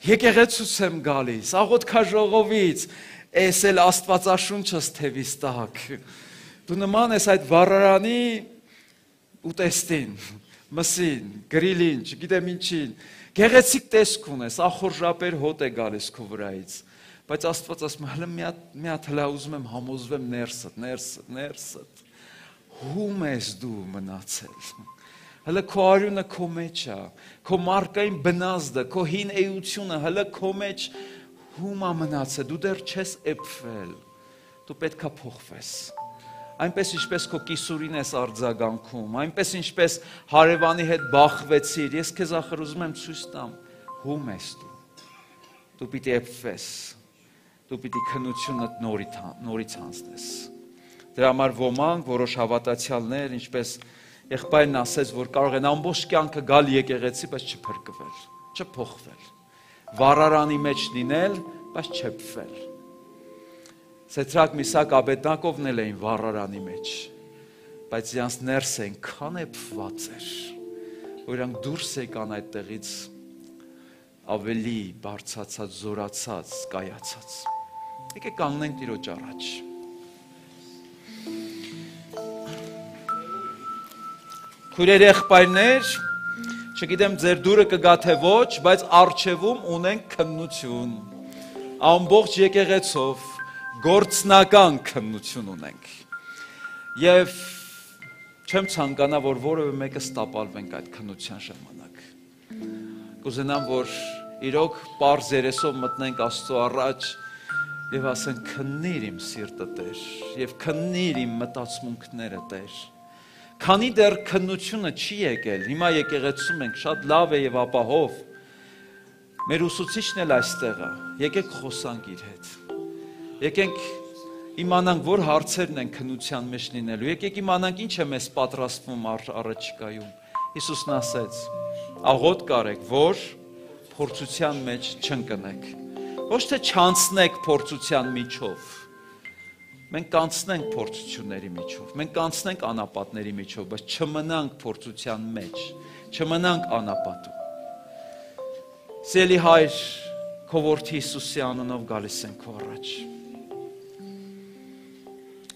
Եկեղեցուց եմ գալիս, աղոթքաժողովից, էս էլ Աստվածաշունչս թևիս տակ։ Դու նման ես այդ վառարանի ուտեստին, մսին, գրիլին, չգիտեմ ինչին, գեղեցիկ տեսք ունես, ախորժապեր հոտ է գալիս քո վրայից։ Բայց Աստված ասում է, հələ մի հատ, մի հատ հələ ուզում եմ համոզվեմ ներսդ, ներսդ, ներսդ։ Հում ես դու մնացել։ Հələ քո արյունը քո մեջ է, քո մարկային բնազդը, քո հին էությունը հələ քո մեջ հում է մնացել, դու դեռ չես էփվել, դու պետք է փոխվես։ Այնպես ինչպես քո կիսուրին ես արձագանքում, այնպես ինչպես հարևանի հետ բախվեցիր, ես քեզ ախր ուզում եմ ցույց տամ, հում ես դու։ Դու պիտի էփվես, դու պիտի քննությունդ նորից հանձնես։ Դրա համար ոմանք, որոշ հավատացյալներ, ինչպես եղբայրն ասեց, որ կարող են ամբողջ կյանքը գալ եկեղեցի, բայց չփրկվել, չփոխվել, վառարանի մեջ լինել, բայց չփվել։ Սեդրակ, Միսակ, Աբեդնագովն էլ էին վառարանի մեջ, բայց իրանց ներսը այնքան էփված էր, որ իրանք դուրս եկան այդտեղից ավելի բարձրացած, զորացած, կայացած։ Եկեք կանգնենք Տիրոջ առաջ։ Քույրեր, եղբայրներ, չգիտեմ ձեր դուրը կգա թե ոչ, բայց առջևում ունենք քննություն, ամբողջ եկեղեցով գործնական քննություն ունենք։ Եվ չեմ ցանկանա, որ որևէ մեկը ստապալվենք այդ քննության ժամանակ։ Կուզենամ, որ իրոք պարզ երեսով մտնենք Աստծո առաջ եւ ասենք քննիր իմ սիրտը Տեր, եւ քննիր իմ մտածմունքները Տեր։ Քանի դեռ քննությունը չի եկել, հիմա եկեղեցում ենք, շատ լավ է եւ ապահով։ Մեր ուսուցիչն էլ այստեղ է, եկեք խոսանք իր հետ։ Եկենք իմանանք, որ հարցերն են քննության մեջ լինելու, եկեք իմանանք ինչ է մեզ պատրաստվում առաջիկայում։ Հիսուսն ասեց. աղոթ կարեք, որ փորձության մեջ չընկնեք։ Ոչ թե չանցնեք փորձության միջով, Մենք կանցնենք փորձությունների միջով, մենք կանցնենք անապատների միջով, բայց չմնանք փորձության մեջ, չմնանք անապատում։ Սիրելի Հայր, քո որդի Հիսուսի անունով գալիս ենք քո առաջ։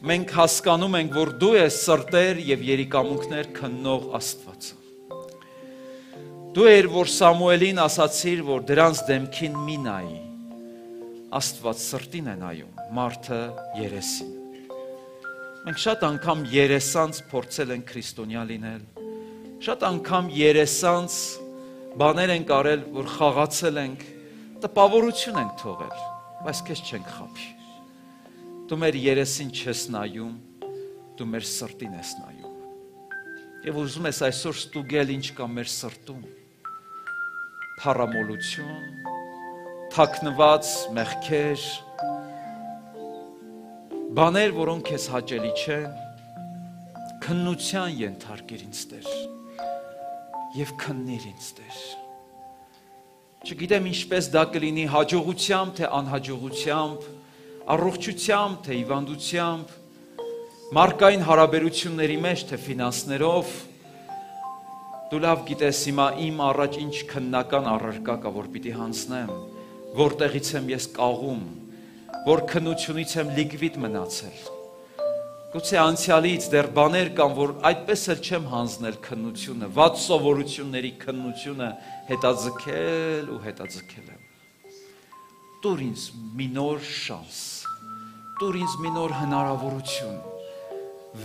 Մենք հասկանում ենք, որ դու ես սրտեր եւ երիկամունքներ քննող Աստվածը։ Դու ես, որ Սամուելին ասացիր, որ դրանց դեմքին մի նայի։ Աստված սրտին է նայում, մարդը երեսին։ Մենք շատ անգամ երեսանց փորձել ենք քրիստոնյա լինել, շատ անգամ երեսանց բաներ ենք արել, որ խաղացել ենք, տպավորություն ենք թողել, բայց քեզ չենք խաբի։ Դու մեր երեսին չես նայում, դու մեր սրտին ես նայում։ Եվ ուզում ես այսօր ստուգել ինչ կա մեր սրտում։ Փառամոլություն, թաքնված մեղքեր, բաներ, որոնք քեզ հաճելի չեն, քննության ենթարկիր ինձ Տեր եւ քննիր ինձ Տեր։ Չգիտեմ ինչպես դա կլինի հաջողությամբ թե անհաջողությամբ, առողջությամբ թե հիվանդությամբ, մարդկային հարաբերությունների մեջ թե ֆինանսներով, դու լավ գիտես հիմա իմ առաջ ինչ քննական առարկա կա, որ պիտի հանձնեմ, որտեղից եմ ես կաղում, որ քննությունից եմ լիկվիդ մնացել։ Գուցե անցյալից դեռ բաներ կան, որ այդպես էլ չեմ հանձնել քննությունը, վատ սովորությունների քննությունը հետաձգել ու հետաձգել եմ։ Տուր ինձ մի նոր շանս, տուր ինձ մի նոր հնարավորություն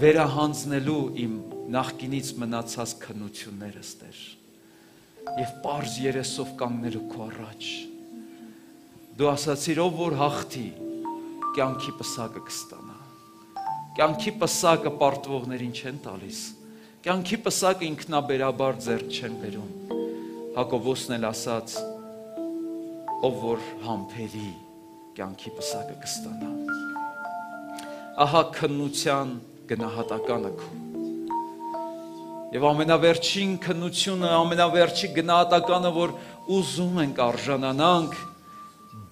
վերահանձնելու իմ նախկինից մնացած քննություններս Տեր եւ պարզ երեսով կանգնելու քո առաջ։ Դու ասացիր, ով որ հաղթի, կյանքի պսակը կստանա։ Կյանքի պսակը պարտվողներին չեն տալիս, կյանքի պսակը ինքնաբերաբար ձեռք չեն բերում։ Հակոբոսն էլ ասաց, ով որ համբերի, կյանքի պսակը կստանա։ Ահա քննության գնահատականը քո։ Եվ ամենավերջին քննությունը, ամենավերջի գնահատականը, որ ուզում ենք արժանանանք,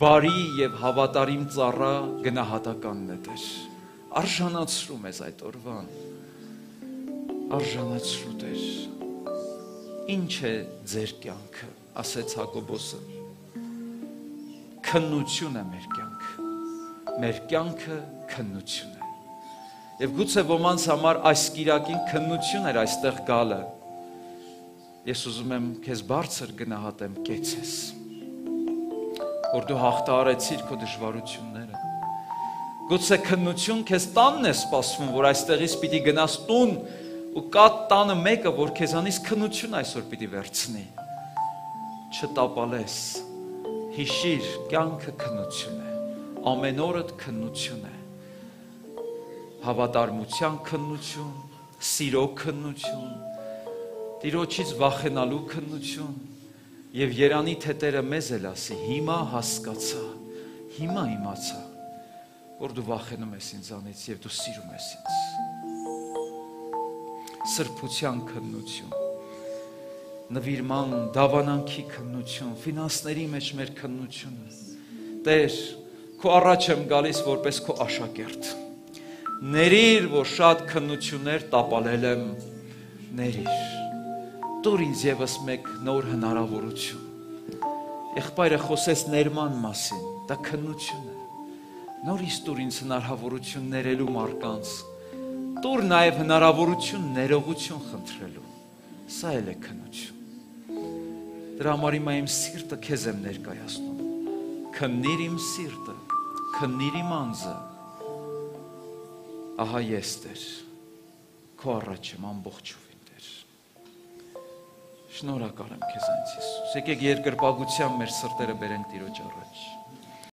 բարի եւ հավատարիմ ծառա գնահատականն է Տեր։ Արժանացրու մեզ այդ օրվան, արժանացրու Տեր։ Ինչ է ձեր կյանքը, ասեց Հակոբոսը։ Քննություն է մեր կյանքը, մեր կյանքը քննություն է։ Եվ գուցե ոմանց համար այս կիրակին քննություն էր այստեղ գալը։ Ես ուզում եմ քեզ բարձր գնահատեմ, կեցես, որ դու հաղթահարեցիր քո դժվարությունները։ Գուցե քննություն քեզ տանն է սպասվում, որ այստեղից պիտի գնաս տուն ու կա տանը մեկը, որ քեզանից քննություն այսօր պիտի վերցնի։ Չտապալես, հիշիր, կյանքը քննություն է, ամեն օրդ քննություն է, հավատարմության քննություն, սիրո քննություն, Տիրոջից վախենալու քննություն եւ Երանի թե Տերը մեզ էլ ասի, հիմա հասկացա, հիմա իմացա, որ դու վախենում ես ինձանից եւ դու սիրում ես ինձ։ Սրբության քննություն, նվիրման, դավանանքի քննություն, ֆինանսների մեջ մեր քննությունը։ Տեր, քո առաջ եմ գալիս որպես քո աշակերտ։ Ներիր, որ շատ քննություններ տապալել եմ, ներիր։ Տուր ինձ եւս մեկ նոր հնարավորություն։ Եղբայրը խոսեց ներման մասին, դա քննություն է։ Նորից տուր ինձ հնարավորություն ներելու մարկանց։ Տուր նաև հնարավորություն ներողություն խնդրելու։ Սա էլ է քննություն։ Դրա համար հիմա իմ սիրտը քեզ եմ ներկայացնում։ Քննիր իմ սիրտը, քննիր իմ անձը։ Ահա ես Տեր, քո առաջ եմ ամբողջովին Տեր։ Շնորհակալ եմ քեզ, Անց Հիսուս։ Եկեք երկրպագությամբ մեր սրտերը բերենք Տիրոջ առաջ։